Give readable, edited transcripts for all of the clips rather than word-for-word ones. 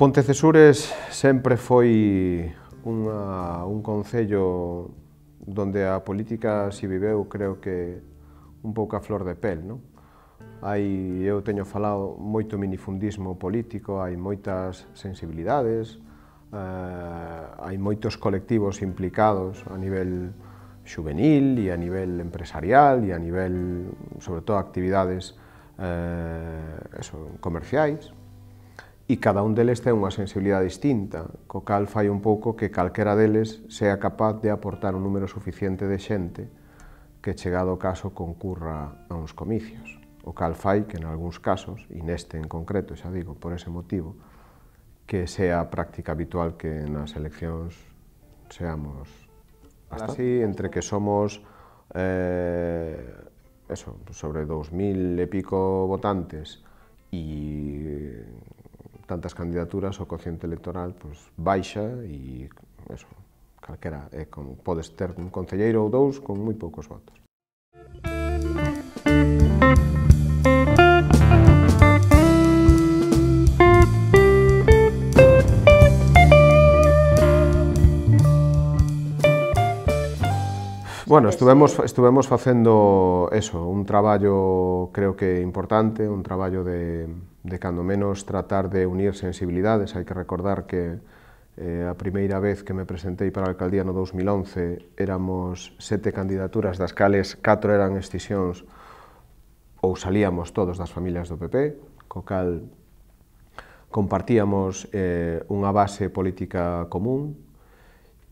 Pontecesures sempre foi un concello donde a política se viveu, creo que, un pouco a flor de pel, non? Eu teño falado moito minifundismo político, hai moitas sensibilidades, hai moitos colectivos implicados a nivel xuvenil e a nivel empresarial e a nivel, sobre todo, actividades comerciais, e cada un deles ten unha sensibilidade distinta, co cal fai un pouco que calquera deles sea capaz de aportar un número suficiente de xente que, chegado o caso, concurra a uns comicios, o cal fai que, en algúns casos, e neste en concreto, xa digo, por ese motivo, que sea práctica habitual que nas eleccións seamos así, entre que somos sobre 2000 e pico votantes e tantas candidaturas, o cociente electoral baixa e calquera, podes ter un concelleiro ou dous con moi poucos votos. Bueno, estuvemos facendo un traballo, creo que importante, un traballo de cando menos tratar de unir sensibilidades. Hai que recordar que a primeira vez que me presentei para a alcaldía no 2011 éramos 7 candidaturas, das cales 4 eran escisións ou salíamos todos das familias do PP, co cal compartíamos unha base política común,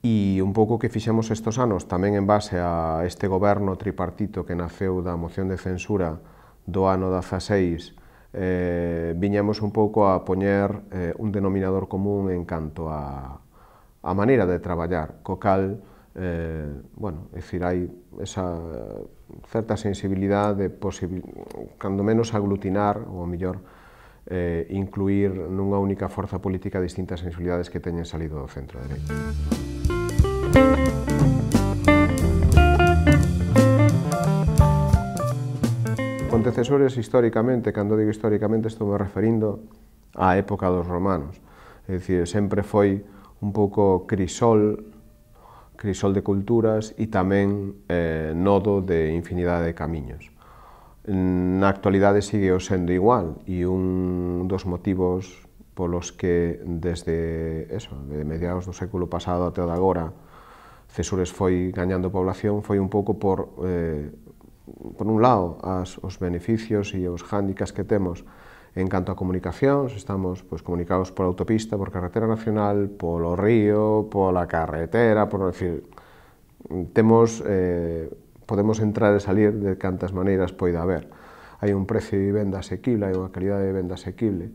e un pouco que fixemos estos anos tamén en base a este goberno tripartito que naceu da moción de censura do ano 16, viñamos un pouco a poñer un denominador común en canto a maneira de traballar, co cal, hai esa certa sensibilidade de, cando menos, aglutinar, ou, mellor, incluir nunha única forza política distintas sensibilidades que teñen salido do centro dereito. Pontecesures, históricamente, cando digo históricamente, estou me referindo á época dos romanos. É dicir, sempre foi un pouco crisol de culturas e tamén nodo de infinidade de camiños. Na actualidade sigue o sendo igual, e un dos motivos polos que desde mediados do século pasado até o de agora Cesures foi gañando población foi un pouco por un lado, os beneficios e os hándicaps que temos en canto a comunicacións. Estamos comunicados por autopista, por carretera nacional, polo río, pola carretera, podemos entrar e salir de cantas maneiras poida haber. Hai un precio de vivenda asequible, hai unha calidade de vivenda asequible.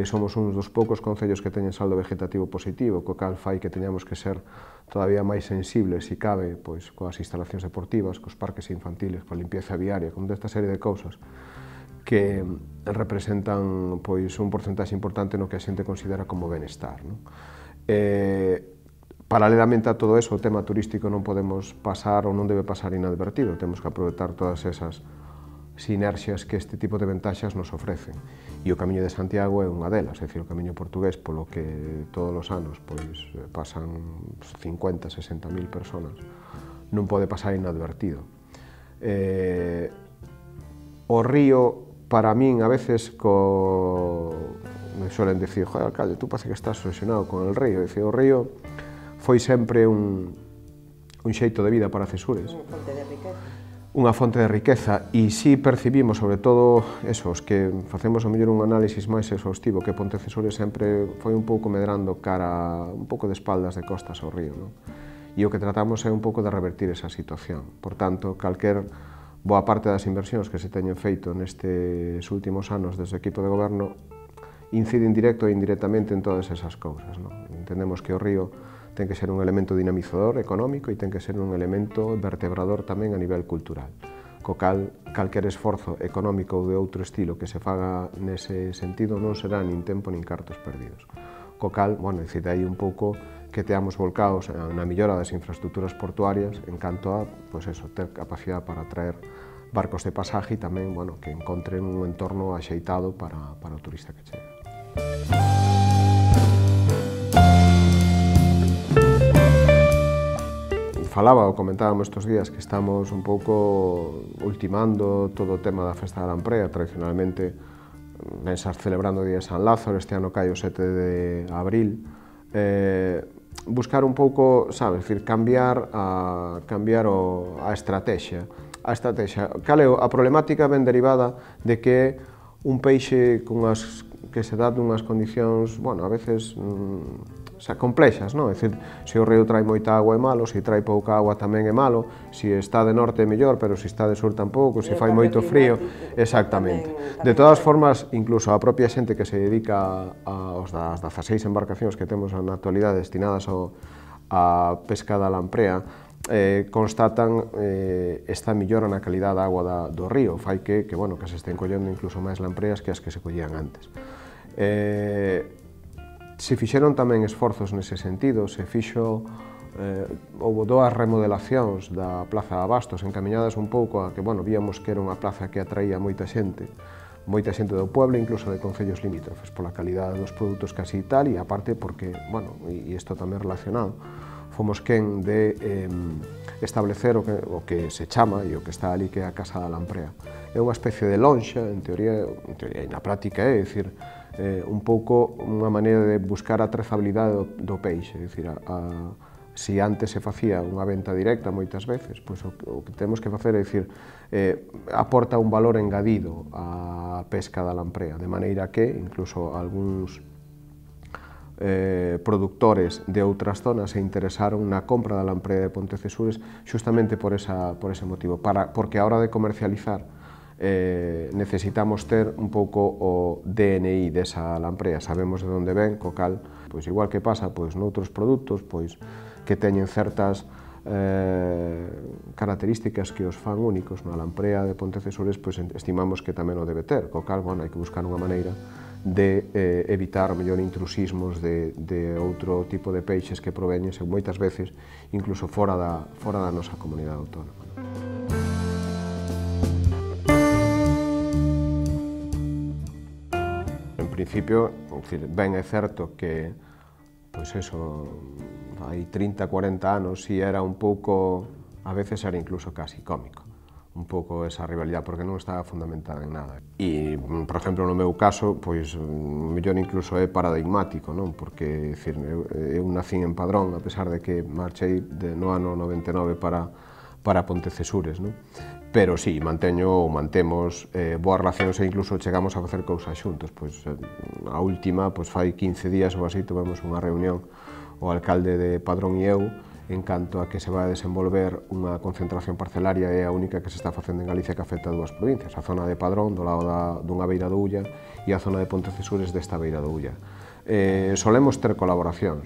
Somos uns dos poucos concellos que teñen saldo vegetativo positivo, co cal fai que teñamos que ser todavía máis sensibles, se cabe, coas instalacións deportivas, cos parques infantiles, coa limpieza viaria, con esta serie de cousas que representan un porcentaxe importante no que a xente considera como benestar. Paralelamente a todo eso, o tema turístico non podemos pasar ou non debe pasar inadvertido. Temos que aproveitar todas esas sinerxias que este tipo de ventaxas nos ofrecen. E o Camiño de Santiago é unha delas, é dicir, o Camiño portugués, polo que todos os anos pasan 50, 60.000 personas, non pode pasar inadvertido. O río, para min, a veces, me suelen dicir, joder, alcalde, tú parece que estás obsesionado con el río. O río foi sempre un xeito de vida para Cesures. Unha fonte de riqueza. Unha fonte de riqueza, e si percibimos, sobre todo, os que facemos a mellor un análisis máis exhaustivo, que Pontecesures sempre foi un pouco medrando cara, un pouco de espaldas de costas ao río, e o que tratamos é un pouco de revertir esa situación. Por tanto, calquer boa parte das inversións que se teñen feito nestes últimos anos desde o equipo de goberno inciden directo e indirectamente en todas esas cousas. Entendemos que o río ten que ser un elemento dinamizador económico e ten que ser un elemento vertebrador tamén a nivel cultural. Co cal, calquer esforzo económico ou de outro estilo que se faga nese sentido non será nin tempo nin cartos perdidos. Co cal, decide aí un pouco que teamos volcados na millora das infraestructuras portuarias en canto a, ter capacidade para atraer barcos de pasaje e tamén, que encontren un entorno axeitado para o turista que chega. falaba ou comentábamos estes días que estamos un pouco ultimando todo o tema da Festa da Lamprea. Tradicionalmente vense celebrando o Día de San Lázaro, este ano cae o 7 de abril. Buscar un pouco, sabes, decir, cambiar a estrategia. Cal é a problemática ben derivada de que un peixe que se dá dunhas condicións, bueno, a veces complexas, non? É dicir, se o río trae moita agua é malo, se trae pouca agua tamén é malo, se está de norte é mellor, pero se está de sur tampouco, se fai moito frío, exactamente. De todas formas, incluso a propia xente que se dedica aos das 16 embarcacións que temos na actualidade destinadas á pesca da lamprea, constatan esta millora na calidad da agua do río, fai que se estén collendo incluso máis lampreas que as que se collían antes. Se fixeron tamén esforzos nese sentido, houve 2 remodelacións da Plaza de Abastos encaminhadas un pouco a que, víamos que era unha plaza que atraía moita xente do pueblo, incluso de concellos limítrofes, pola calidade dos produtos casi e tal, e aparte porque, e isto tamén relacionado, fomos quen de establecer o que se chama e o que está ali que é a Casa da Lamprea. É unha especie de lonxa, en teoría e na práctica é dicir, un pouco unha maneira de buscar a trazabilidade do peixe, é dicir, se antes se facía unha venta directa moitas veces, pois o que temos que facer é dicir, aporta un valor engadido á pesca da lamprea, de maneira que incluso algúns productores de outras zonas se interesaron na compra da lamprea de Pontecesures xustamente por ese motivo, porque a hora de comercializar necesitamos ter un pouco o DNI desa lamprea, sabemos de onde ven, co cal, pois igual que pasa noutros produtos, pois que teñen certas características que os fan únicos, na lamprea de Pontecesures, pois estimamos que tamén o debe ter, co cal, hai que buscar unha maneira de evitar mellor intrusismos de outro tipo de peixes que proveñen moitas veces incluso fora da nosa comunidade autónoma. En principio, ben é certo que hai 30, 40 anos si era un pouco, a veces era incluso casi cómico, un pouco esa rivalidade, porque non estaba fundamentada en nada. E, por exemplo, no meu caso, mellor incluso é paradigmático, non? Porque, eu nacín en Padrón, a pesar de que marchei no ano 99 para Pontecesures, non? Pero sí, mantemos boas relacións e incluso chegamos a facer cousas xuntos. A última, fai 15 días ou así, tivemos unha reunión o alcalde de Padrón e eu en canto a que se vai a desenvolver unha concentración parcelaria, é a única que se está facendo en Galicia que afecta a 2 provincias, a zona de Padrón, do lado dunha beira do Ulla, e a zona de Pontecesures desta beira do Ulla. Solemos ter colaboración,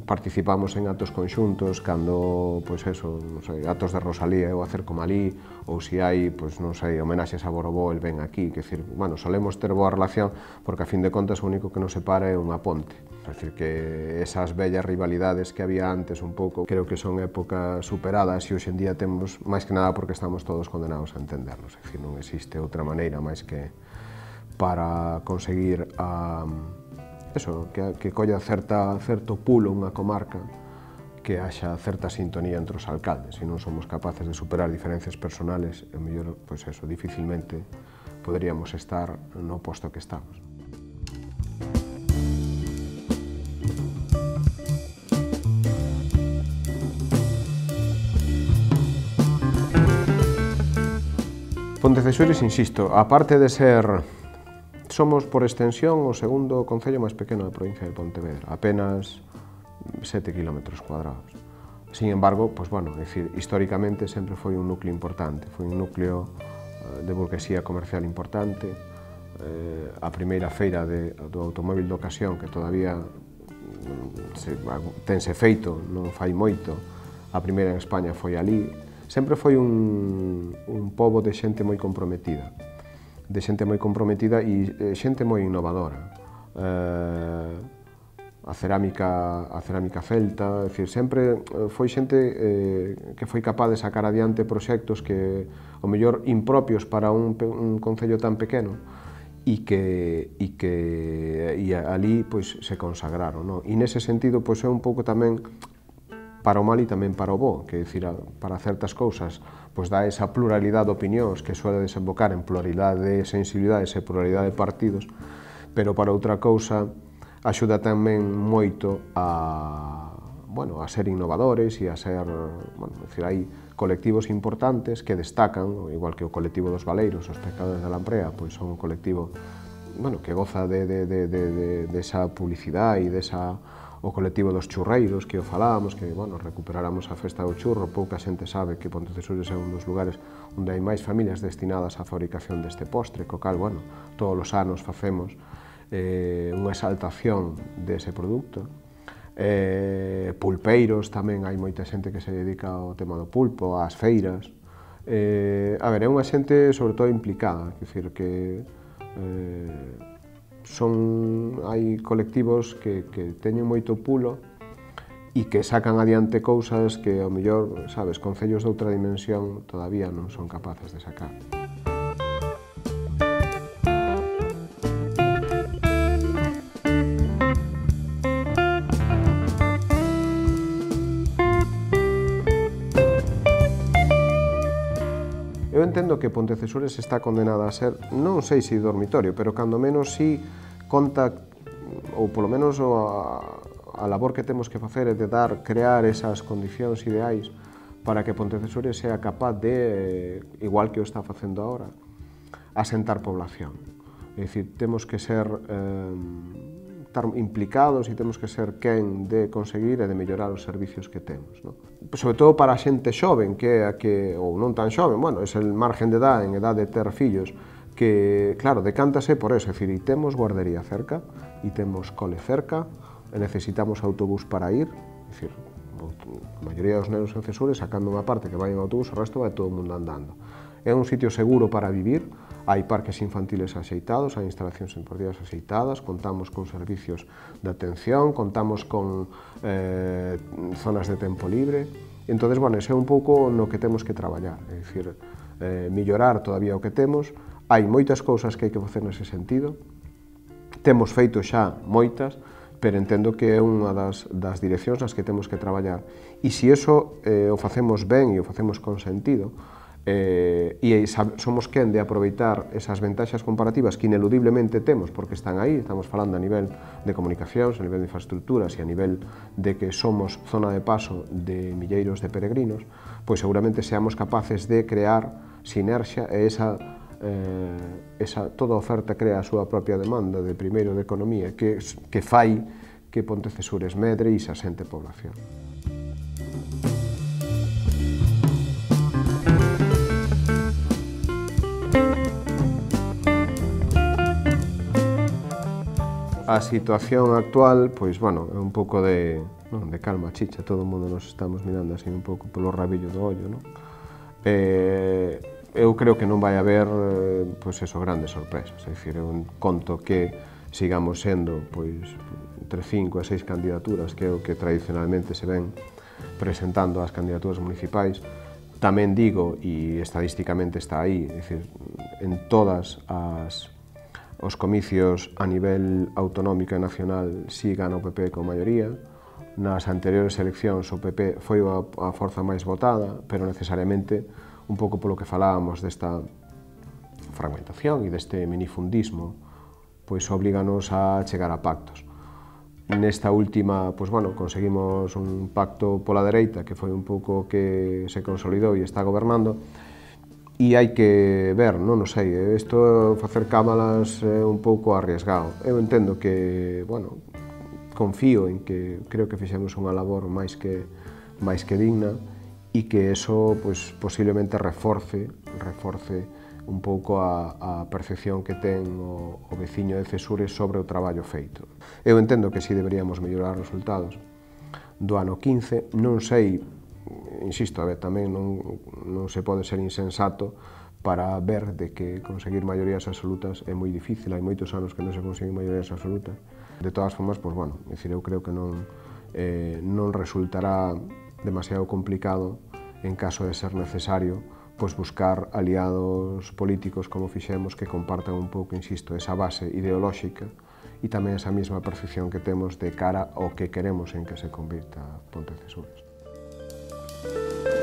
participamos en actos conxuntos, cando, actos de Rosalía eu acerco malí, ou se hai, homenaxes a Borobó, el ven aquí, solemos ter boa relación, porque a fin de contas o único que nos separa é unha ponte. É dicir, que esas bellas rivalidades que había antes un pouco, creo que son épocas superadas e hoxe en día temos, máis que nada porque estamos todos condenados a entendernos, é dicir, non existe outra maneira máis que para conseguir que colla certo pulo unha comarca, que haxa certa sintonía entre os alcaldes. Se non somos capaces de superar diferencias personales, mellor, dificilmente poderíamos estar no posto que estamos. Pontecesures, insisto, aparte de ser somos, por extensión, o segundo concello máis pequeno da provincia de Pontevedra, apenas 7 km². Sin embargo, históricamente sempre foi un núcleo importante, foi un núcleo de burguesía comercial importante, a primeira feira do automóbil de ocasión, que todavía tense feito, non fai moito, a primeira en España foi ali, sempre foi un pobo de xente moi comprometida, e xente moi innovadora. A cerámica celta, sempre foi xente que foi capaz de sacar adiante proxectos que, ao mellor, impropios para un concello tan pequeno, e que ali se consagraron. E nese sentido é un pouco tamén para o mal e tamén para o bo, que dicir, para certas cousas pois dá esa pluralidade de opinións que suele desembocar en pluralidade de sensibilidades e pluralidade de partidos, pero para outra cousa axuda tamén moito a ser innovadores e a ser, dicir, hai colectivos importantes que destacan, igual que o colectivo dos Valeiros, os pescadores da Lamprea, pois son un colectivo que goza desa publicidade e o colectivo dos churreiros que o falábamos, que recuperáramos a festa do churro. Pouca xente sabe que Pontecesures é un dos lugares onde hai máis familias destinadas á fabricación deste postre, co cal, todos os anos facemos unha exaltación dese produto. Pulpeiros tamén, hai moita xente que se dedica ao tema do pulpo, ás feiras. É unha xente sobre todo implicada, quer dicir que hai colectivos que teñen moito pulo e que sacan adiante cousas que, ao mellor, concellos de outra dimensión todavía non son capaces de sacar. Eu entendo que Pontecesures está condenada a ser, non sei se dormitorio, pero cando menos si conta, ou polo menos a labor que temos que facer é de crear esas condicións ideais para que Pontecesures sea capaz de, igual que o está facendo agora, asentar población. É dicir, temos que ser estar implicados e temos que ser quen de conseguir e de mellorar os servicios que temos. Sobre todo para a xente xoven, ou non tan xoven, é el margen de edad, en edad de ter fillos, que, claro, decántase por eso, é dicir, e temos guardería cerca, e temos cole cerca, e necesitamos autobús para ir, é dicir, a maioría dos nenos en Cesures, sacando unha parte que vai en autobús, o resto vai todo o mundo andando. É un sitio seguro para vivir, hai parques infantiles axeitados, hai instalacións deportivas axeitadas, contamos con servicios de atención, contamos con zonas de tempo libre. Entón, ese é un pouco no que temos que traballar, é dicir, mellorar todavía o que temos. Hai moitas cousas que hai que facer nese sentido, temos feito xa moitas, pero entendo que é unha das direccións nas que temos que traballar. E se iso o facemos ben e o facemos con sentido, e somos quen de aproveitar esas ventaxas comparativas que ineludiblemente temos, porque están aí, estamos falando a nivel de comunicacións, a nivel de infraestructuras e a nivel de que somos zona de paso de milleiros de peregrinos, pois seguramente seamos capaces de crear sinerxia e toda oferta crea a súa propia demanda de primeiro de economía que fai que Pontecesures medre e se asente población. A situación actual, pois, é un pouco de calma, chicha, todo o mundo nos estamos mirando así un pouco polo rabillo do ollo, non? Eu creo que non vai haber, grandes sorpresas, é dicir, eu conto que sigamos sendo, entre 5 e 6 candidaturas, que é o que tradicionalmente se ven presentando as candidaturas municipais. Tamén digo, e estadísticamente está aí, é dicir, en todas os comicios a nivel autonómico e nacional si gana o PP con maioría. Nas anteriores eleccións o PP foi a forza máis votada, pero necesariamente, un pouco polo que falábamos desta fragmentación e deste minifundismo, pois oblíganos a chegar a pactos. Nesta última, conseguimos un pacto pola dereita, que foi un pouco que se consolidou e está gobernando, e hai que ver, non sei, isto facer cámalas é un pouco arriesgado. Eu entendo que, confío en que creo que fixemos unha labor máis que digna e que eso posiblemente reforce un pouco a percepción que ten o veciño de Cesures sobre o traballo feito. Eu entendo que si deberíamos mellorar os resultados do ano 15, non sei, insisto, tamén non se pode ser insensato para ver de que conseguir maiorías absolutas é moi difícil, hai moitos anos que non se consiguen maiorías absolutas. De todas formas, eu creo que non resultará demasiado complicado, en caso de ser necesario, buscar aliados políticos como fixemos que compartan un pouco, insisto, esa base ideolóxica e tamén esa mesma percepción que temos de cara ao que queremos en que se convirta Pontecesures. Gracias.